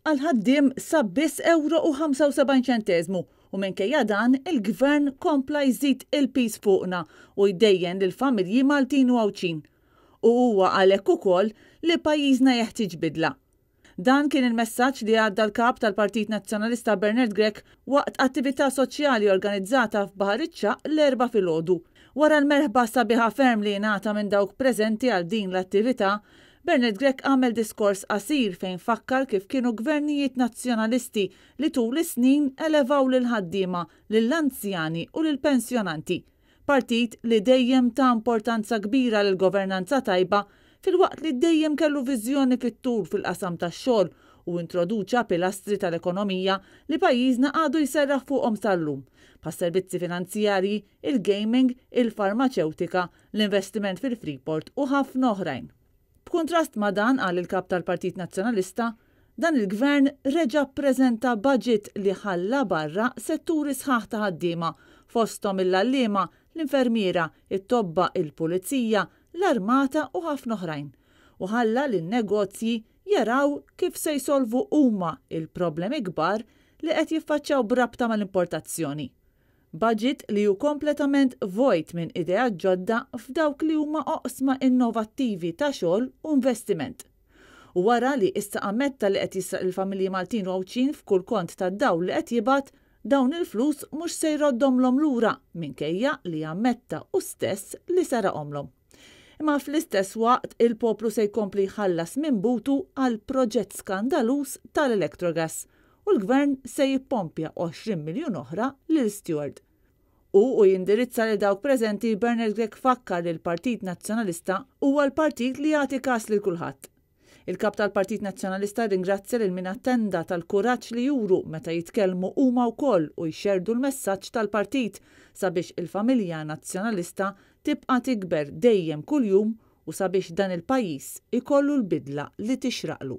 Għall-ħaddiem sab biss ewro u 75 ċenteżmu u minkejja dan il-Gvern kompla jżid il-piż fuqna u jdejjen lill-familji Maltin u Għawdxin. U huwa għalhekk ukoll li pajjiżna jeħtieġ bidla. Dan kien il-messaġġ li għadda l-Kap tal-Partit Nazzjonalista Bernard Grech waqt attività soċjali organizzata f'Baħar iċ-Ċagħaq l-Erbgħa filgħodu. Wara l-merħba sabiħa ferm li ingħata minn dawk preżenti għal din l-attività, Bernard Grech għamel diskors qasir fejn fakkar kif kienu gvernijiet Nazzjonalisti li tul is-snin elevaw lill-ħaddiema, lill-anzjani u lill-pensjonanti. Partit li dejjem ta importanza kbira lill-governanza tajba filwaqt li dejjem kellu viżjoni fit-tul fil-qasam tax-xogħol u introduċa pilastri tal-ekonomija li pajjiżna għadu jserraħ fuqhom sal-lum, bħas-servizzi finanzjarji, il-gaming, il-farmaċewtika, l-investiment fil-Freeport u ħafna oħrajn. B'kuntrast ma' dan, qal il-Kap tal-Partit Nazzjonalista, dan il-Gvern reġa' ppreżenta budget li ħalla barra setturi sħaħ ta' ħaddiema, fosthom il-għalliema, l-infermiera, it-tobba, il-pulizija, l-armata u ħafna oħrajn, u ħalla lin-negozji jaraw kif se jsolvu huma l-problemi kbar li qed jiffaċċjaw b'rabta mal-importazzjoni. Budget li hu kompletament vojt minn ideat ġodda f'dawk li huma oqsma innovattivi ta' xogħol u investiment. U wara li issa ammetta li qed jisraq lill-familji Maltin u Għawdxin f'kull kont tad-dawl li qed jibgħat, dawn il-flus mhux se jroddhomlhom lura minkejja li ammetta hu stess li seraqhomlhom. Imma fl-istess waqt il-poplu se jkompli jħallas minn butu għall-proġett skandaluż tal-Electrogas u l-Gvern se jippompja 20 miljun oħra lil Steward. Hu u jindirizza lil dawk preżenti Bernard Grech fakkar li l-Partit Nazzjonalista huwa l-partit li jagħti kas lil kulħadd. Il-Kap tal-Partit Nazzjonalista rringrazzja lil min attenda tal-kuraġġ li juru meta jitkellmu huma wkoll u jxerrdu l-messaġġ tal-partit sabiex il-familja Nazzjonalista tibqa' tikber dejjem kuljum u sabiex dan il-pajjiż ikollu l-bidla li tixraqlu.